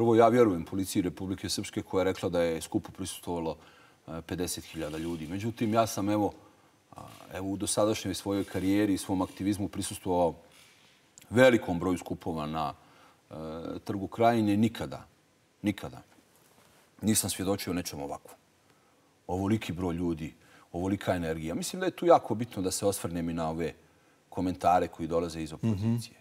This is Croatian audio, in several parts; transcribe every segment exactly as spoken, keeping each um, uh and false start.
Prvo, ja vjerujem policiji Republike Srpske koja je rekla da je skupu prisustvovalo pedeset hiljada ljudi. Međutim, ja sam evo, evo u dosadašnjoj svojoj karijeri i svom aktivizmu prisustvovao velikom broju skupova na e, Trgu Krajine. Nikada, nikada nisam svjedočio nečem ovakvom. Ovoliki broj ljudi, ovolika energija. Mislim da je tu jako bitno da se osvrnem i na ove komentare koji dolaze iz opozicije. Mm-hmm.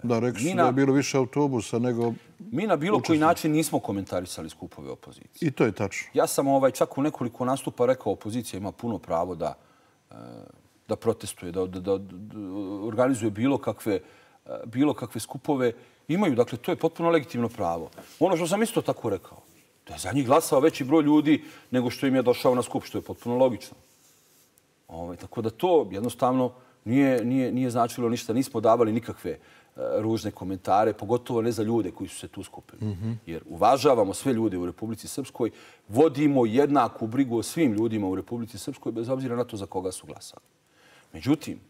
Da, rekli su da je bilo više autobusa nego... Mi na bilo koji način nismo komentarisali skupove opozicije. I to je tačno. Ja sam ovaj, čak u nekoliko nastupa rekao opozicija ima puno pravo da, da protestuje, da, da, da, da organizuje bilo kakve, bilo kakve skupove. Imaju, dakle, to je potpuno legitimno pravo. Ono što sam isto tako rekao, da je za njih glasao veći broj ljudi nego što im je došao na skup, što je potpuno logično. Ovaj, tako da to jednostavno nije, nije, nije značilo ništa. Nismo davali nikakve ružne komentare, pogotovo ne za ljude koji su se tu skupili. Mm-hmm. Jer uvažavamo sve ljude u Republici Srpskoj, vodimo jednaku brigu o svim ljudima u Republici Srpskoj, bez obzira na to za koga su glasali. Međutim,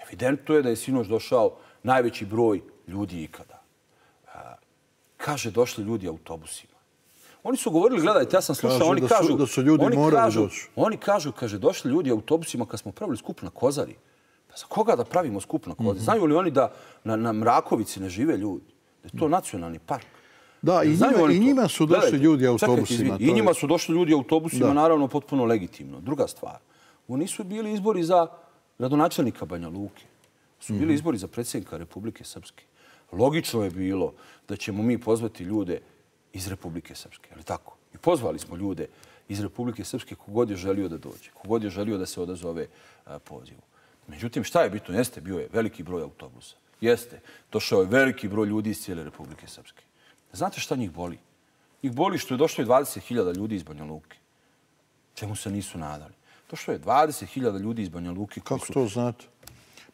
evidentno je da je sinoć došao najveći broj ljudi ikada. Kaže, došli ljudi autobusima. Oni su govorili, gledajte, ja sam slušao, kažu oni da kažu... Su, da su ljudi oni morali kažu, doći. Oni kažu, kaže, došli ljudi autobusima kad smo pravili skup na Kozari. Pa za koga da pravimo skup na Kozari? Mm-hmm. Znaju li oni da na, na Mrakovici ne žive ljudi? Da je to nacionalni park? Da, i njima, i njima su došli gledajte, ljudi autobusima. Čekajte, I njima su došli ljudi autobusima, da. Naravno, potpuno legitimno. Druga stvar, ovo nisu bili izbori za gradonačelnika Banja Luke. Su bili mm-hmm. izbori za predsjednika Republike Srpske. Logično je bilo da ćemo mi pozvati ljude iz Republike Srpske, ali tako? I pozvali smo ljude iz Republike Srpske kogod je želio da dođe, kogod je želio da se odazove a, pozivu. Međutim, šta je bitno? Jeste, bio je veliki broj autobusa. Jeste, došao je veliki broj ljudi iz cijele Republike Srpske. Znate šta njih boli? Njih boli što je došlo dvadeset hiljada ljudi iz Banja Luke. Čemu se nisu nadali? Došlo je dvadeset hiljada ljudi iz Banja Luke. Kako su... to znate?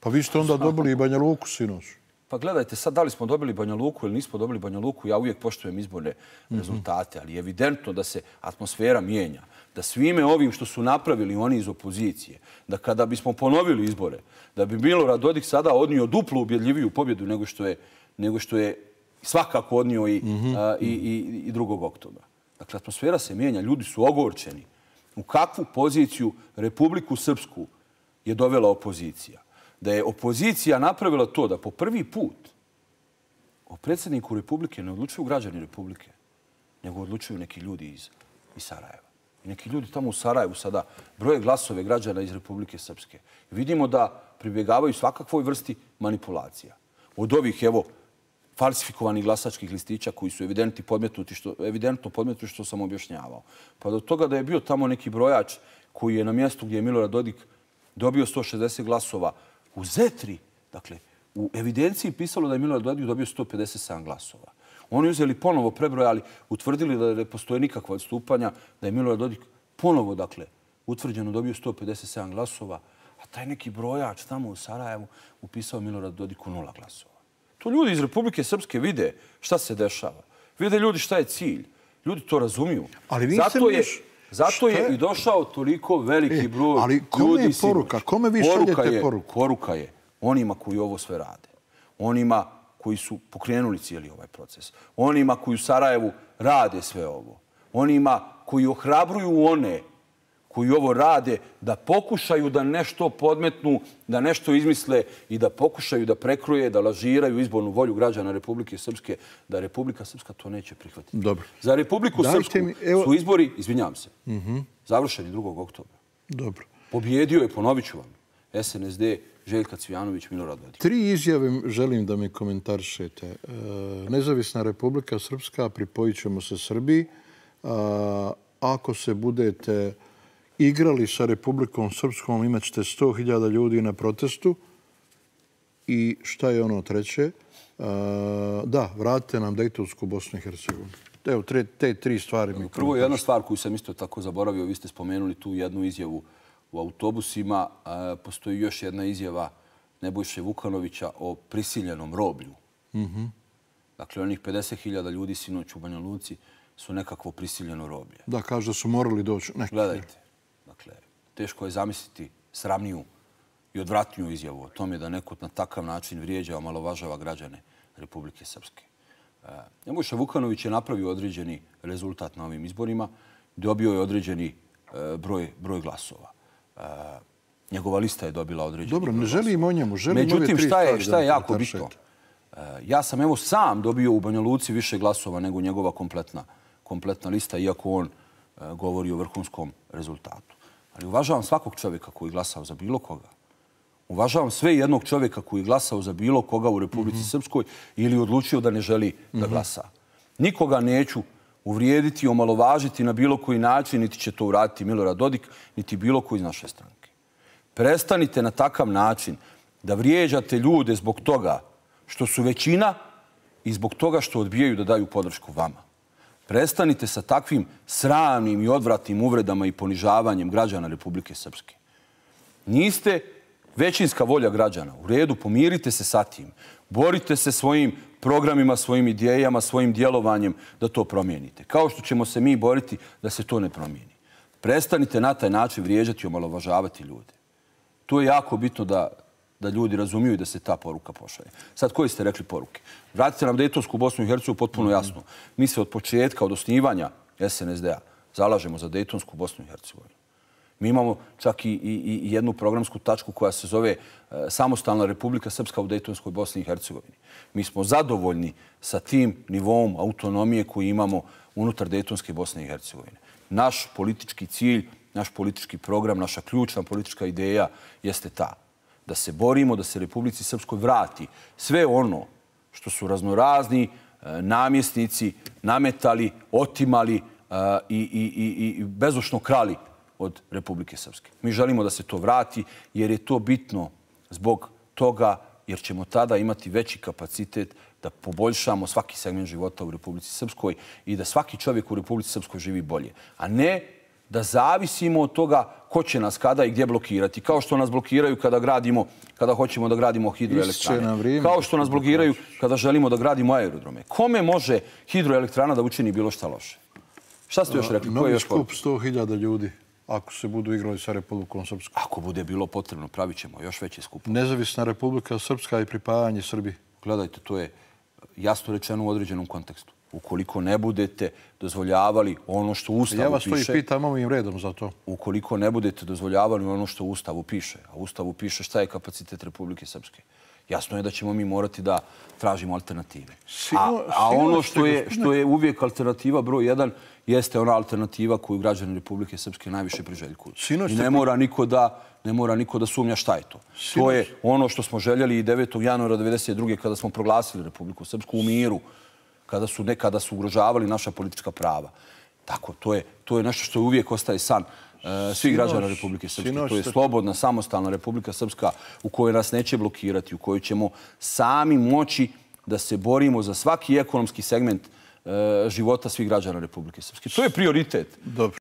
Pa vi ste onda dobili i Banja Luku sinoć. Pa gledajte, sad da li smo dobili Banja Luku ili nismo dobili Banja Luku, ja uvijek poštujem izborne rezultate, ali je evidentno da se atmosfera mijenja. Da svime ovim što su napravili oni iz opozicije, da kada bismo ponovili izbore, da bi Milorad Dodik sada odnio duplo ubjedljiviju pobjedu nego što je, nego što je svakako odnio i, mm-hmm. a, i, i, i drugog oktobra. Dakle, atmosfera se mijenja, ljudi su ogorčeni. U kakvu poziciju Republiku Srpsku je dovela opozicija? Da je opozicija napravila to da po prvi put o predsjedniku Republike ne odlučuju građani Republike, nego odlučuju neki ljudi iz, iz Sarajeva. I neki ljudi tamo u Sarajevu sada broje glasove građana iz Republike Srpske. I vidimo da pribjegavaju svakakvoj vrsti manipulacija. Od ovih, evo, falsifikovanih glasačkih listića koji su evidentno podmetnuti što, evidentno podmetnuti što sam objašnjavao. Pa do toga da je bio tamo neki brojač koji je na mjestu gdje je Milorad Dodik dobio sto šezdeset glasova u Zetri, dakle, u evidenciji pisalo da je Milorad Dodik dobio sto pedeset sedam glasova. Oni uzeli ponovo prebrojali, utvrdili da ne postoje nikakva odstupanja, da je Milorad Dodik ponovo, dakle, utvrđeno dobio sto pedeset sedam glasova, a taj neki brojač tamo u Sarajevu upisao Milorad Dodiku nula glasova. To ljudi iz Republike Srpske vide šta se dešava. Vide ljudi šta je cilj. Ljudi to razumiju. Ali vi zato je, miš... zato je i došao toliko veliki broj e, ali kome ljudi. Je poruka? Kome vi šaljete poruku? Poruka je onima koji ovo sve rade. Onima koji su pokrenuli cijeli ovaj proces. Onima koji u Sarajevu rade sve ovo. Onima koji ohrabruju one koji ovo rade da pokušaju da nešto podmetnu, da nešto izmisle i da pokušaju da prekroje, da lažiraju izbornu volju građana Republike Srpske, da Republika Srpska to neće prihvatiti. Dobro. Za Republiku Dajte Srpsku mi, evo... su izbori, izvinjam se, mm-hmm. završeni drugog oktobra. Dobro. Pobjedio je, ponovit ću vam, S N S D, Željka Cvijanović, Milorad Dodik. Tri izjave želim da mi komentarišete. E, Nezavisna Republika Srpska, pripojit ćemo se Srbiji. A, ako se budete igrali sa Republikom Srpskom, imat ćete sto hiljada ljudi na protestu. I šta je ono treće? A, da, vratite nam Dejtonsku Bosnu i Hercegovinu. Evo, tre, te tri stvari mi Prvo, jedna stvar koju sam isto tako zaboravio, vi ste spomenuli tu jednu izjavu u autobusima. A, postoji još jedna izjava Nebojše Vukanovića o prisiljenom roblju. Mm-hmm. Dakle, onih pedeset hiljada ljudi sinoć u Banja Luci su nekakvo prisiljeno roblje. Da, kaže da su morali doći. Neki. Gledajte, dakle, teško je zamisliti sramniju i odvratniju izjavu o tome da neko na takav način vrijeđa, omalovažava građane Republike Srpske. Nebojša Vukanović je napravio određeni rezultat na ovim izborima. Dobio je određeni broj, broj glasova. Njegova lista je dobila određeni Dobro, ne želim o njemu. Želim Međutim, šta je, šta je jako bitno? Ja sam evo sam dobio u Banja Luci više glasova nego njegova kompletna, kompletna lista, iako on govori o vrhunskom rezultatu. Ali uvažavam svakog čovjeka koji je glasao za bilo koga. Uvažavam sve jednog čovjeka koji je glasao za bilo koga u Republici mm-hmm. Srpskoj ili odlučio da ne želi da mm-hmm. glasa. Nikoga neću uvrijediti, omalovažiti na bilo koji način, niti će to uraditi Milorad Dodik, niti bilo koji iz naše stranke. Prestanite na takav način da vrijeđate ljude zbog toga što su većina i zbog toga što odbijaju da daju podršku vama. Prestanite sa takvim sramnim i odvratnim uvredama i ponižavanjem građana Republike Srpske. Niste većinska volja građana. U redu, pomirite se sa tim. Borite se svojim programima, svojim idejama, svojim djelovanjem da to promijenite. Kao što ćemo se mi boriti da se to ne promijeni. Prestanite na taj način vrijeđati i omalovažavati ljude. To je jako bitno da, da ljudi razumiju i da se ta poruka pošalje. Sad, koji ste rekli poruke? Vratite nam Dejtonsku Bosnu i Hercegovinu potpuno jasno. Mi se od početka, od osnivanja S N S D-a zalažemo za Dejtonsku Bosnu i Hercegovinu. Mi imamo čak i, i, i jednu programsku tačku koja se zove e, Samostalna Republika Srpska u Dejtonskoj Bosni i Hercegovini. Mi smo zadovoljni sa tim nivom autonomije koji imamo unutar Dejtonske Bosne i Hercegovine. Naš politički cilj, naš politički program, naša ključna politička ideja jeste ta. Da se borimo, da se Republici Srpskoj vrati sve ono što su raznorazni e, namjesnici nametali, otimali e, i, i, i, i bezočno krali od Republike Srpske. Mi želimo da se to vrati jer je to bitno zbog toga jer ćemo tada imati veći kapacitet da poboljšamo svaki segment života u Republici Srpskoj i da svaki čovjek u Republici Srpskoj živi bolje. A ne da zavisimo od toga ko će nas kada i gdje blokirati. Kao što nas blokiraju kada gradimo, kada hoćemo da gradimo hidroelektrane. Kao što nas blokiraju kada želimo da gradimo aerodrome. Kome može hidroelektrana da učini bilo šta loše? Šta ste još rekli? Novi skup sto hiljada ljudi. Ako se budu igrali sa Republikom Srpskom. Ako bude bilo potrebno, pravit ćemo još veće skupe. Nezavisna Republika Srpska i pripajanje Srbiji. Gledajte, to je jasno rečeno u određenom kontekstu. Ukoliko ne budete dozvoljavali ono što u Ustavu piše... Ja vas to i pitam ovim redom za to. Ukoliko ne budete dozvoljavali ono što u Ustavu piše, a u Ustavu piše šta je kapacitet Republike Srpske, jasno je da ćemo mi morati da tražimo alternative. A, a ono što je, što je uvijek alternativa broj jedan jeste ona alternativa koju građani Republike Srpske najviše priželjkuju. I ne mora niko da, ne mora niko da sumnja šta je to. To je ono što smo željeli i devetog januara devedeset druge kada smo proglasili Republiku Srpsku u miru, kada su nekada su ugrožavali naša politička prava. Tako, to je, to je nešto što uvijek ostaje san uh, svih građana Republike Srpske. To je slobodna, samostalna Republika Srpska u kojoj nas neće blokirati, u kojoj ćemo sami moći da se borimo za svaki ekonomski segment uh, života svih građana Republike Srpske. To je prioritet. Dobro.